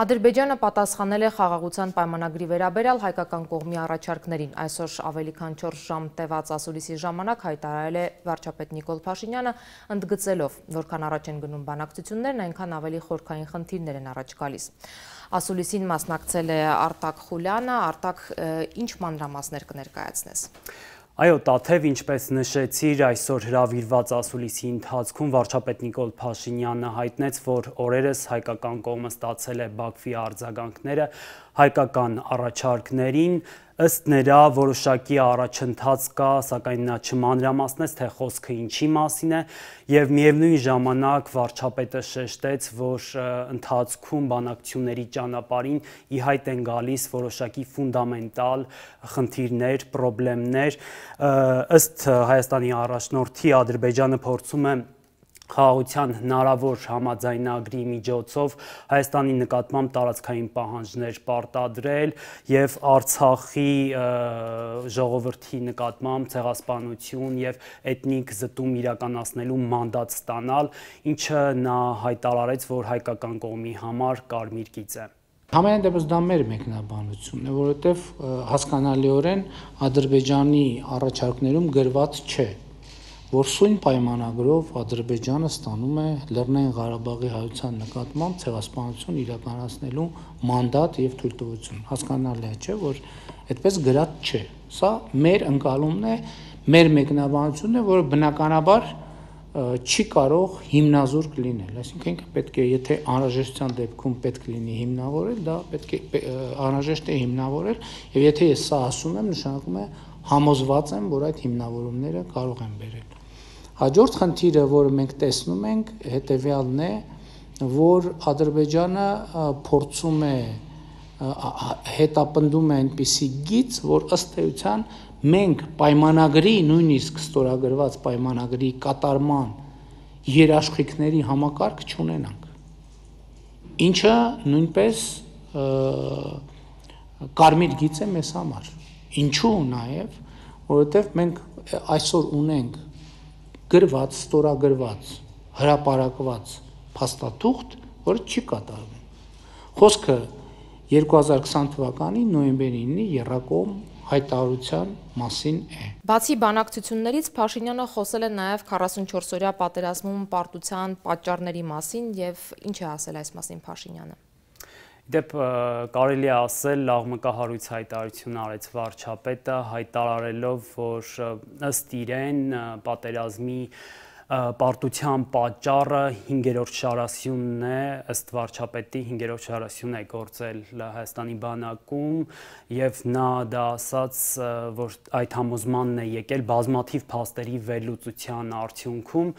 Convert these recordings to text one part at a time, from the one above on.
Ադրբեջանը պատասխանել է խաղաղության պայմանագրի վերաբերյալ հայկական կողմի առաջարկներին։ Այսօր ավելի քան 4 ժամ տևած ասուլիսի ժամանակ հայտարարել է վարչապետ Նիկոլ Փաշինյանը, ընդգծելով, որքան առաջ են գնում բանակցություններն, այնքան ավելի խորքային խնդիրներ են առաջ գալիս։ Ասուլիսին մասնակցել է Արտակ Խուլյանը, Արտակ, ինչ մանրամասներ կներկայացնես։ Այո, Տաթև, ինչպես նշեցիր, այսօր հրավիրված ասուլիսի ընթացքում վարչապետ Նիկոլ Փաշինյանը հայտնեց, որ օրերս հայկական կողմը ստացել է Բաքվի արձագանքները հայկական առաջարկներին, ըստ նրա որոշակի առաջընթաց կա, սակայն նա չմանրամասնեց, թե խոսքը ինչի մասին է, եւ միևնույն ժամանակ վարչապետը շեշտեց, որ ընթացքում բանակցությունների ճանապարհին ի հայտ են գալիս որոշակի ֆունդամենտալ խնդիրներ, խնդիրներ, ըստ Հայաստանի առաջնորդի Ադրբեջանը փորձում է խաղաղության հնարավոր համաձայնագրի միջոցով Հայաստանի նկատմամբ տարածքային պահանջներ պարտադրել եւ Արցախի ժողովրդի նկատմամբ ցեղասպանություն եւ էթնիկ զտում իրականացնելու մանդատ ստանալ, ինչը նա հայտարարեց, որ հայկական կողմի համար կարմիր գիծ է։ Համենայն դեպս դա մեր մեկնաբանությունն է, որովհետեւ հասկանալիորեն Ադրբեջանի առաջարկներում գրված չէ, որ սույն պայմանագրով Ադրբեջանը ստանում է Լեռնային Ղարաբաղի հայության նկատմամբ ցեղասպանություն իրականացնելու մանդատ եւ թույլտվություն։ Հասկանալի է, չէ, որ այդպես գրած չէ։ Սա մեր ընկալումն է, մեր մեկնաբանությունն է, որը բնականաբար չի կարող հիմնազուրկ լինել, այսինքն պետք է, եթե անհրաժեշտության դեպքում պետք լինի հիմնավորել, դա պետք է անհրաժեշտ է հիմնավորել, եւ եթե ես սա ասում եմ, նշանակում է համոզված եմ, որ այդ հիմնավորումները կարող են բերել։ Հաջորդ խնդիրը, որը մենք տեսնում ենք, հետեւյալն է, որ Ադրբեջանը փորձում է հետապնդում է այնպիսի գիծ, որ ըստ էության մենք պայմանագրի, նույնիսկ ստորագրված պայմանագրի կատարման երաշխիքների համակարգ չունենանք, ինչը նույնպես կարմիր գիծ է մեզ համար։ Ինչու նաեւ, որովհետեւ մենք այսօր ունենք գրված, ստորագրված, հրապարակված փաստաթուղթ, որը չի կատարվում։ Խոսքը 2020 թվականի նոյեմբերի 9-ի եռակողմ հայտարարության մասին է։ Բացի բանակցություններից Փաշինյանը խոսել է նաև 44-օրյա պատերազմում պարտության պատճառների մասին եւ ինչ է ասել այս մասին Փաշինյանը։ Դեպ կարելի է ասել աղմկահարույց հայտարարություն արեց վարչապետը, հայտարարելով, որ ըստ իրեն պատերազմի պարտության պատճառը 5-րդ շարասյունն է, ըստ վարչապետի 5-րդ շարասյուն է գործել Հայաստանի բանակում եւ նա դա ասաց, որ այդ համոզմանն է եկել բազմաթիվ փաստերի վերլուծության արդյունքում,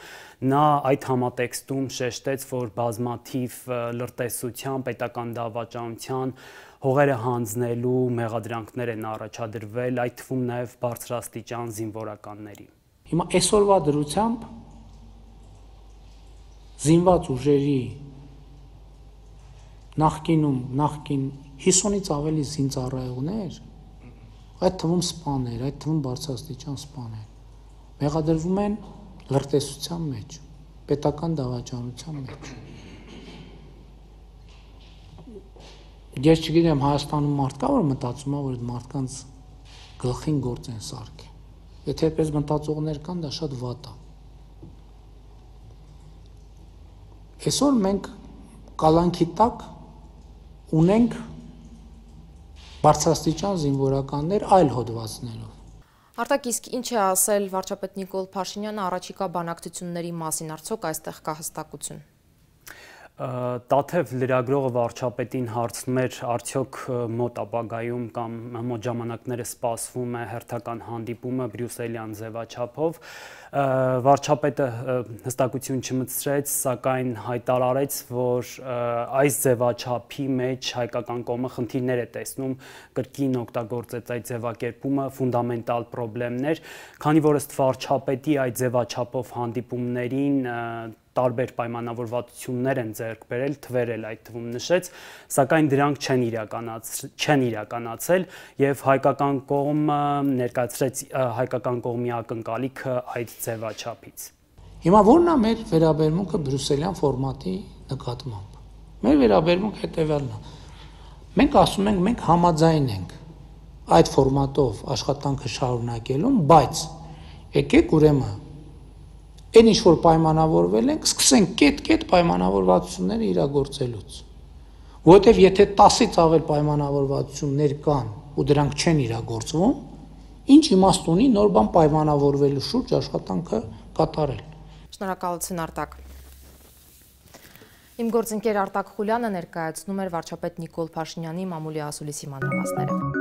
նա այդ համատեքստում շեշտեց, որ բազմաթիվ լրտեսության, պետական դավաճանության հողերը հանձնելու մեղադրանքներ են առաջադրվել, այդ թվում նաեւ բարձրաստիճան զինվորականների։ Հիմա այսօրվա դրությամբ զինված ուժերի նախկին 50-ից ավելի զինծառայողներ, այդ թվում սպաներ, այդ թվում բարձրաստիճան սպաներ, մեղադրվում են լրտեսության մեջ, պետական դավաճանության մեջ։ Ես չգիտեմ, Հայաստանում մարդ կա, որ մտածում է, որ այդ մարդկանց գլխին գործ են սարքել։ Եթե այդպես մտածողներ կան, դա շատ վատ է։ Այսօր մենք կալանքի տակ ունենք բարձրաստիճան զինվորականներ այլ հոդվածներով։ Արտակ, իսկ ինչ է ասել վարչապետ Նիկոլ Փաշինյանը առաջիկա բանակցությունների մասին, արդյոք այստեղ կա հստակություն։ Տաթև լրագրողը վարչապետին հարցնում էր, արդյոք մոտ ապագայում կամ մոտ ժամանակները սպասվում է հերթական հանդիպումը բրյուսելյան ձևաչափով, վարչապետը հստակություն չմտցրեց, սակայն հայտարարեց, որ այս ձևաչափի մեջ հայկական կողմը խնդիրներ է տեսնում, կրկին օգտագործեց այդ ձևակերպումը, ֆունդամենտալ խնդիրներ, քանի որ ըստ վարչապետի այդ ձևաչափով հանդիպումներին տարբեր պայմանավորվածություններ են ձեռք բերել, թվերել այդ թվում նշեց, սակայն դրանք չեն իրականացել եւ հայկական կողմը ներկայացրեց հայկական կողմի ակնկալիքը այդ ձևաչափից։ Հիմա ո՞րն է մեր վերաբերմունքը բրյուսելյան ֆորմատի նկատմամբ։ Մեր վերաբերմունք հետևյալն է։ Մենք ասում ենք, մենք համաձայն ենք այդ ֆորմատով աշխատանքը շարունակելուն, բայց եկեք ուրեմն այն ինչ որ պայմանավորվել ենք, սկսենք կետ-կետ պայմանավորվածությունները իրագործելուց։ Որովհետև եթե 10-ից ավել պայմանավորվածություններ կան ու դրանք չեն իրագործվում, ինչ իմաստ ունի նոր բան պայմանավորվելու շուրջ աշխատանքը կատարել։ Շնորհակալություն Արտակ։ Իմ գործընկեր Արտակ Խուլյանը ներկայացնում էր վարչապետ Նիկոլ Փաշինյանի մամուլի ասուլիսի մանրամասները։